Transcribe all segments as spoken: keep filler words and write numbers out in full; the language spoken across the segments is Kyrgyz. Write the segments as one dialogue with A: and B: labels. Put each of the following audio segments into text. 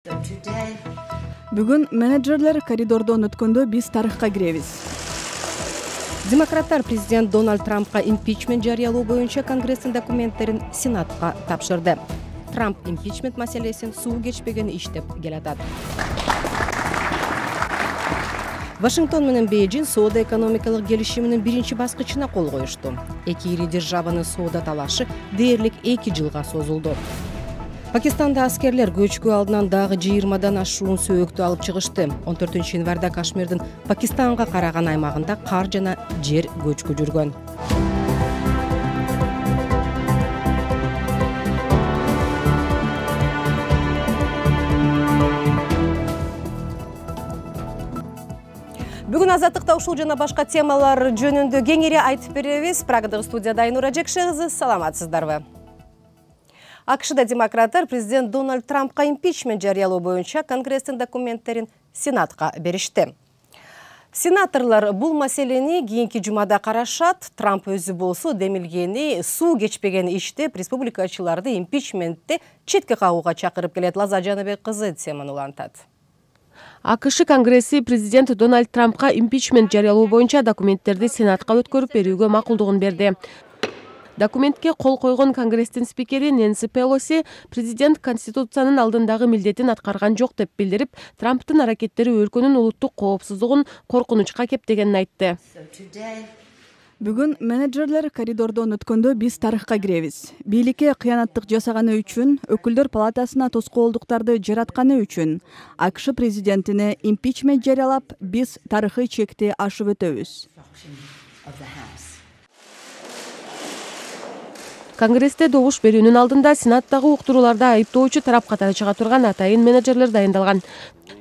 A: Бүгүн менеджерлер коридордон өткөндө биз тарыхка киребиз.
B: Демократтар президент Дональд Трампка импичмент жарыялоо боюнча Конгресстин документтерин Сенатка тапшырды. Трамп импичмент маселесин суу кечпеген иш деп келатат. Вашингтон менен Бейжин соода экономикалык келишиминин биринчи баскычына кол коюшту. Эки ири державанын соода талашы дээрлик эки жылга созулду. Пакистанда аскерлер көчкү алдынан дагы жыйырмадан ашуун сөөктү алып чыгышты. он төртүнчү январда Кашмирдин Пакистанга караган аймагында кар жана жер көчкү жүргөн. Бүгүн Азаттыкта ушул жана башка темалар жөнүндө кеңири айтып беребиз. Прагадагы студияда Айнура Жекше кызы, саламатсыздарбы? АКШда демократтар президент Дональд Трампка импичмент жарыялоо боюнча Конгресстин документтерин Сенатка беришти. Сенаторлор бул маселени кийинки жумада карашат. Трамп өзү болсо демилгени суу кечпеген иштеп республикачыларды импичментти четке кагууга чакырып келет. Лаза Жаныбек кызы теманы улантат.
C: АКШ Конгресси президент Дональд Трампка импичмент жарыялоо боюнча документтерди Сенатка өткөрүп берүүгө макулдугун берди. Документке кол койгон Конгресстин спикери Нэнси Пелоси президент Конституциянын алдындагы милдетин аткарган жок деп билдирип, Трамптын аракеттери өлкөнүн улуттук коопсуздугун коркунучка кептегенин айтты.
A: Бүгүн менеджерлер коридордон өткөндө биз тарыхка киребиз. Бийликке кыянаттык жасаганы үчүн, өкүлдөр палатасына тоскоолдуктарды жаратканы үчүн АКШ президентине импичмент жарыялап, биз тарыхый чекти ашып өтөбүз.
C: Конгрессте добуш берүүнүн алдында Сенаттагы уктурууларда айыптоочу тарап катары чыга турган атайын менеджерлер дайындалган.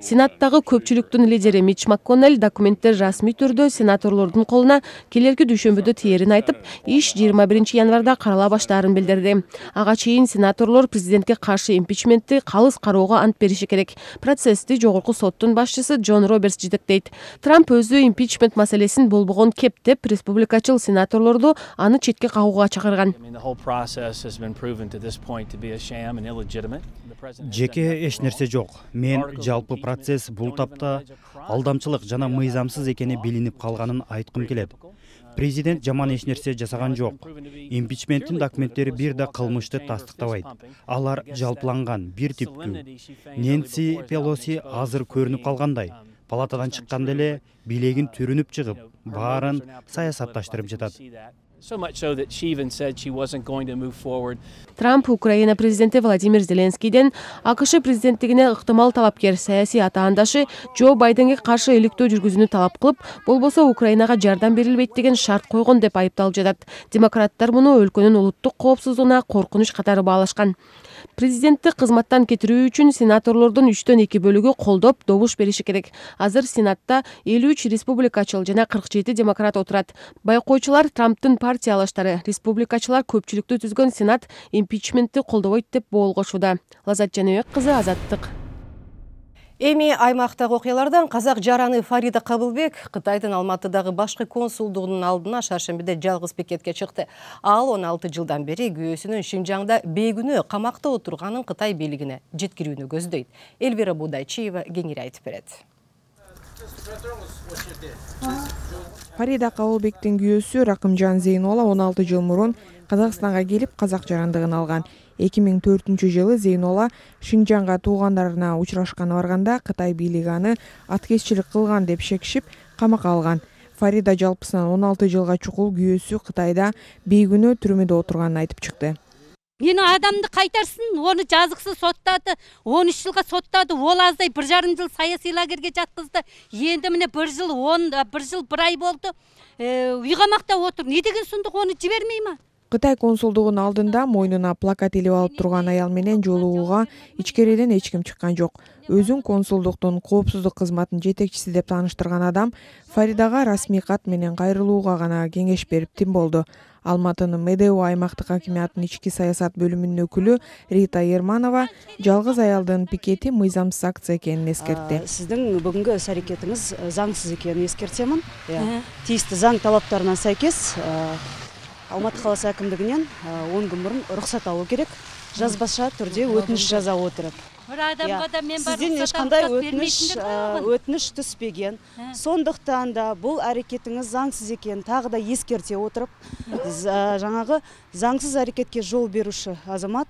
C: Сенаттагы көпчүлүктүн лидери Митч МакКоннелл документтер расмий түрдө сенаторлордун колуна келерки дүйшөмбүдө тиерин айтып, иш жыйырма биринчи январда карала баштаарын билдирди. Ага чейин сенаторлор президентке каршы импичментти калыс кароого ант бериши керек. Процессти жогорку соттун башчысы Джон Робертс жетектейт. Трамп өзү импичмент маселесин болбогон кептеп, республикачыл сенаторлорду аны четке кагууга чакырган.
D: Жеке эч нерсе жок. Мен жалпы процесс бул тапта алдамчылык жана мыйзамсыз экени билинип калганын айткым келет. Президент жаман эч нерсе жасаган жок. Импичменттин документтери бир да кылмышты тастыктабайт. Алар жалпыланган, бир типтүү. Нэнси Пелоси азыр көрүнүп калгандай. Палатадан чыкканда эле билегин түрүнүп чыгып, баарын саясатташтырып жатат.
C: Трамп Украина президенти Владимир Зеленскийден АКШ президенттигине ыктымал талапкер саясий атаандашы Джо Байденге каршы иликтөө жүргүзүүнү талап кылып, болбосо Украинага жардам берилбейт деген шарт койгон деп айыпталып жатат. Демократтар муну өлкөнүн улуттук коопсуздугуна коркунуч катары баалашкан. Президентти кызматтан кетирүү үчүн сенаторлордун үчтөн эки бөлүгү колдоп добуш бериши керек. Азыр Сенатта элүү үч республикачыл жана кырк жети демократ отурат. Байкоочулар Трамптын партиялаштары, республикачылар көпчүлүктү түзгөн Сенат импичментти колдобойт деп боолгошууда. Лазат Жаныбек кызы, Азаттык.
B: Эми аймактагы окуялардан казак жараны Фарида Кабылбек Кытайдын Алматыдагы башкы консулдугунун алдына шаршембиде жалгыз пикетке чыкты. Ал он алты жылдан бери күйөөсүнүн Шинжаңда бейгүнөө камакта отурганын Кытай бийлигине жеткирүүнү көздөйт. Элвира Будайчиева кеңири айтып берет.
E: Фарида Кабылбектин күйөөсү Ракымжан Зейнола он алты жыл мурун Казакстанга келип казак жарандыгын алган. эки миң төртүнчү жылы Зейнола Шинжаңга туугандарына учурашканы барганда Кытай бийлиги аны аткезчилик кылган деп шекишип камакка алган. Фарида жалпысынан он алты жылга чукул күйөөсү Кытайда бейгүнөө түрмөдө отурганын айтып чыкты.
F: Мени адамды кайтарсын, оны жазыксыз соттады, он үч жылга соттады, ол аздай bir жарым жыл саясий лагерге жаткызды. Енді міне bir жыл, он bir жыл bir ай болду. Үй камакта отур. Не деген сундук, оны жибермей ма?
E: Кытай консулдугунун алдында мойнуна плакат илип алып турган аял менен жолугууга ичкериден эч ким чыккан жок. Өзүн консулдуктун коопсуздук кызматынын жетекчиси деп тааныштырган адам Фаридага расмий кат менен кайрылууга гана кеңеш берип тим болду. Алматынын Медео аймактык хакимиятынын ички саясат бөлүмүнүн өкүлү Рита Ерманова жалгыз аялдын пикети мыйзамсыз акция экенин эскертти.
G: Сиздин бүгүнкү өз аракетиңиз заңсыз экенин эскертемин. Тийиштүү заң талаптарына сайкес Алматы каласы әкімдігінен он күн бұрын рұқсат алу керек. жазбаша түрдө өтүнүш жаза отуруп.
F: Бир адамга да мен барып
G: Сизден эчкандай өтүнүш өтүнүш түспөгөн. Сондуктан да бул аракетиңиз заңсыз экенин тагы да эскерте отуруп, жаңагы заңсыз аракетке жол беруші азамат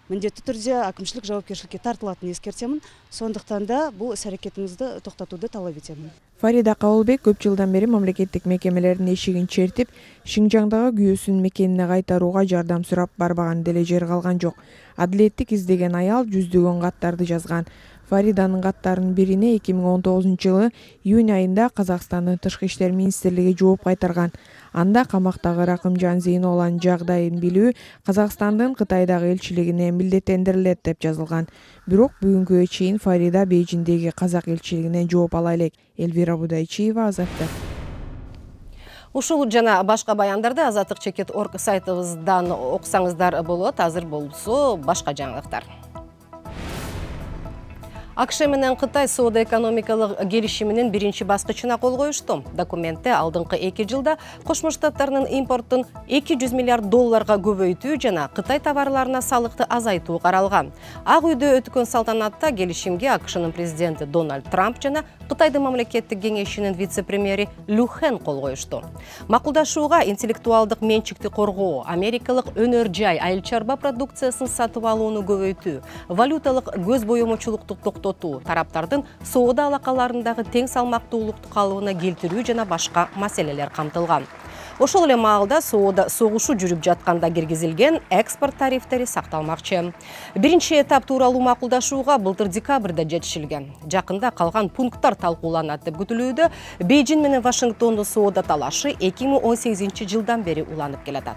G: міндетті түрде әкімшілік жауапкершілікке тартылатынын эскертемин. Сондуктан да бул іс әрекетиңизди токтотууду талап этемин.
E: Фарида Кабылбек көп жылдан бери мамлекеттик мекемелердин эшигин чертип, Шинжаңдагы күйөөсүнүн мекенине кайтарууга жардам сурап барбаган деле жер калган жок. Адилеттик издеген аял жүздөгөн каттарды жазган. Фариданын каттарынын бирине эки миң он тогузунчу жылы июнь айында Казакстандын Тышкы иштер министрлиги жооп кайтарган. Анда камактагы Ракымжан Зейнолланын жагдайын билүү Казакстандын Кытайдагы элчилигине милдеттендирилет деп жазылган. Бирок бүгүнгүгө чейин Фарида Бейжиңдеги Казак элчилигинен жооп ала элек. Элвира Будайчиева, Азаттык.
B: Ушул жана башка баяндарды Азаттык чекит точка орг сайтыбыздан окусаңыздар болот. Азыр болсо башка жаңылыктар. АКШ менен Кытай соода-экономикалык келишиминин биринчи баскычына кол коюшту. Документте алдыңкы эки жылда Кошмо Штаттарынын импортун эки жүз миллиард долларга көбөйтүү жана Кытай товарларына салыкты азайтуу каралган. Ак үйдө өткөн салтанатта келишимге АКШнын президенти Дональд Трамп жана Кытайдын мамлекеттик кеңешинин вице-премьери Лю Хэн кол коюшту. Макулдашууга интеллектуалдык менчикти коргоо, америкалык өнөр жай, айыл чарба продукциясын сатып алууну көбөйтүү, валюталык көз боемочулукту токтотуу, тараптардын соода алакаларындагы тең салмактуулукту калыбына келтирүү жана башка маселелер камтылган. Ошол эле маалда соода согушу жүрүп жатканда киргизилген экспорт тарифтери сакталмакчы. Биринчи этап тууралуу макулдашууга былтыр декабрда жетишилген. Жакында калган пункттар талкууланат деп күтүлүүдө. Бейжиң менен Вашингтондун соода талашы эки миң он сегизинчи жылдан бери уланып келатат.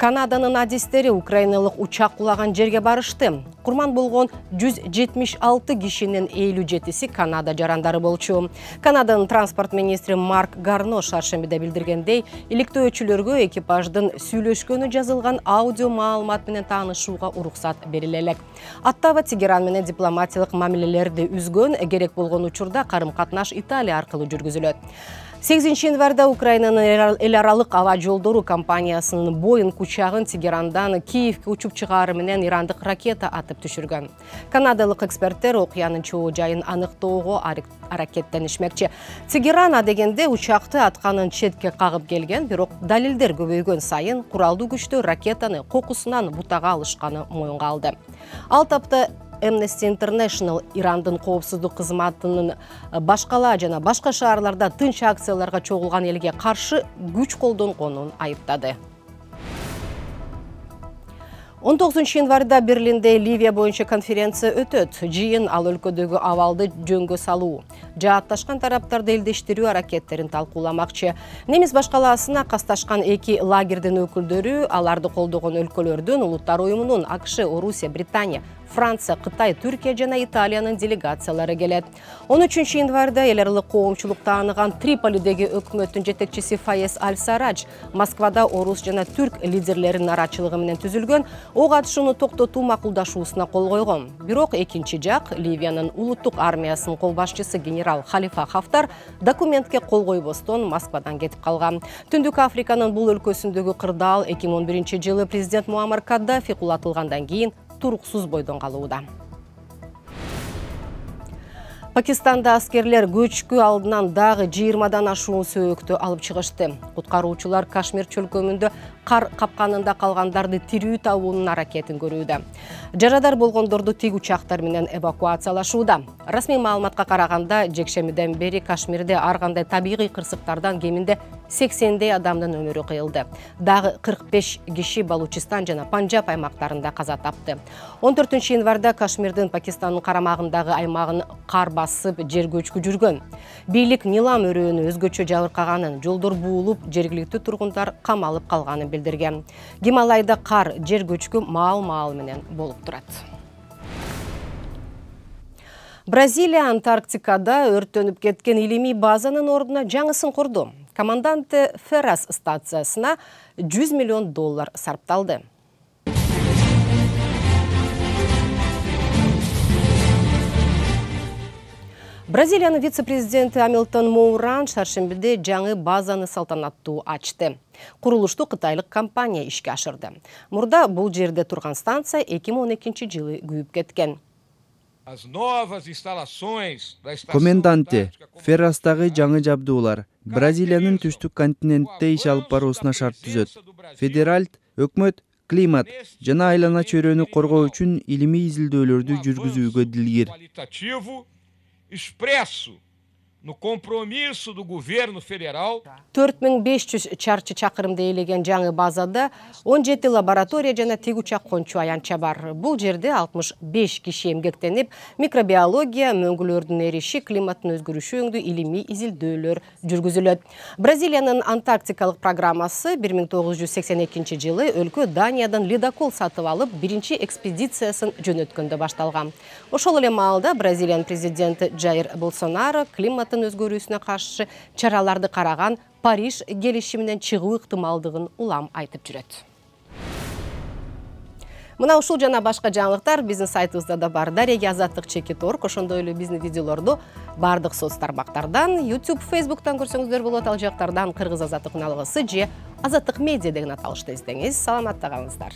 B: Канаданын адистери украиналык учак кулаган жерге барышты. Курман болгон жүз жетимиш алты кишинин элүү жетиси Канада жарандары болчу. Канаданын транспорт министри Марк Гарно шаршембиде билдиргендей, иликтөөчүлөргө экипаждын сүйлөшкөнү жазылган аудио маалымат менен таанышууга уруксат бериле элек. Аттава Тегеран менен дипломатиялык мамилелерди үзгөн, керек болгон учурда карым-катнаш Италия аркылуу жүргүзүлөт. сегизинчи январда Украинанын эл аралык аба жолдору компаниясынын Боинг учагын Тегерандан Киевке учуп чыгары менен ирандык ракета атып түшүргөн. Канадалык эксперттер окуянын чоо жайын аныктоого аракеттенишмекчи. Тегеран адегенде учакты атканын четке кагып келген, бирок далилдер көбөйгөн сайын куралдуу күчтөр ракетаны кокусунан бутага алышканы моюнга алды. Ал тапта Amnesty International Ирандын коопсуздук кызматынын башкала жана башка шаарларда тынч акцияларга чогулган элге каршы күч колдонгонун айыптады. он тогузунчу январда Берлинде Ливия боюнча конференция өтөт. Жыйын ал өлкөдөгү абалды жөнгө салуу, жаатташкан тараптарды элдештирүү аракеттерин талкууламакчы. Немис башкалаасына касташкан эки лагердин өкүлдөрү аларды колдогон өлкөлөрдүн улуттар уюмунун АКШ, Орусия, Британия, Франция, Кытай, Түркия жана Италиянын делегациялары келет. он үчүнчү январда эл аралык коомчулук тааныган Триполидеги өкмөттүн жетекчиси Фаез Аль-Сарадж Москвада орус жана түрк лидерлеринин арачылыгы менен түзүлгөн ок атышууну токтотуу макулдашуусуна кол койгон. Бирок экинчи жак Ливиянын улуттук армиясынын кол башчысы генерал Халифа Хафтар документке кол койбостон Москвадан кетип калган. Түндүк Африканын бул өлкөсүндөгү кырдаал эки миң он биринчи жылы президент Муаммар Каддафи кулатылгандан кийин туруксуз бойдон калууда. Пакистанда аскерлер көчкү алдынан дагы жыйырмадан ашуун сөөктү алып чыгышты. Куткаруучулар Кашмир чөлкөмүндө кар капканында калгандарды тирүү табуунун аракетин көрүүдө. Жарадар болгондорду тик учактар менен эвакуациялашууда. Расмий маалыматка караганда, жекшемиден бери Кашмирде ар кандай табигый кырсыктардан кеминде сексендей адамдын өмүрү кыйылды. Дагы кырк беш киши Балучистан жана Панджаб аймактарында каза тапты. он төртүнчү январда Кашмирдин Пакистандын карамагындагы аймагын кар басып жер көчкү жүргөн. Бийлик Нилам өрөөнү өзгөчө жабыркаганын, жолдор буулуп, жергиликтүү тургундар камалып калганын билдирген. Гималайда кар, жер көчкү маал-маал менен болуп турат. Бразилия Антарктикада өрттөнүп кеткен илимий базанын ордуна жаңысын курду. Команданте Феррас стациясына жүз миллион доллар сарпталды. Бразилиянын вице-президенти Амилтон Моуран шаршембиде жаңы базаны салтанаттуу ачты. Курулушту кытайлык компания ишке ашырды. Мурда бул жерде турган станция эки миң он экинчи жылы күйүп кеткен.
H: Коменданте, Феррастагы жаңы жабдуулар Бразилиянын түштүк континентте иш алып баруусуна шарт түзөт. Федералд, өкмөт, климат жана айлана чөйрөнү коргоо үчүн илимий изилдөөлөрдү жүргүзүүгө дилгир.
I: No compromisso do governo federal.
B: төрт миң беш жүз чарчы чакырымды ээлеген жаңы базада он жети лаборатория жана тегучак кончу аянтча бар. Бул жерде алтымыш беш киши эмгектенип, микробиология, мөңгүлөрдүн эриши, климаттын өзгөрүшү өңдүү илимий изилдөөлөр жүргүзүлөт. Бразилиянын антарктикалык программасы бир миң тогуз жүз сексен экинчи жылы өлкө Даниядан ледокол сатып алып, биринчи экспедициясын жөнөткөндө башталган. Ошол эле маалда Бразилиянын президенти Жаир Болсонаро климат өзгөрүүсүнө каршы чараларды караган Париж келишиминен чыгуу ыктымалдыгын улам айтып жүрөт. Мына ушул жана башка жаңылыктар биздин сайтыбызда да бар. Дарега азаттык чекит точка орг, ошондой эле биздин видеолорду бардык соц тармактардан, YouTube, Facebook'тан көрсөңүздөр болот. Ал жактардан Кыргыз азаттык уналгысы же Азаттык медиа деген аталышты издеңиз. Саламатта калыңыздар.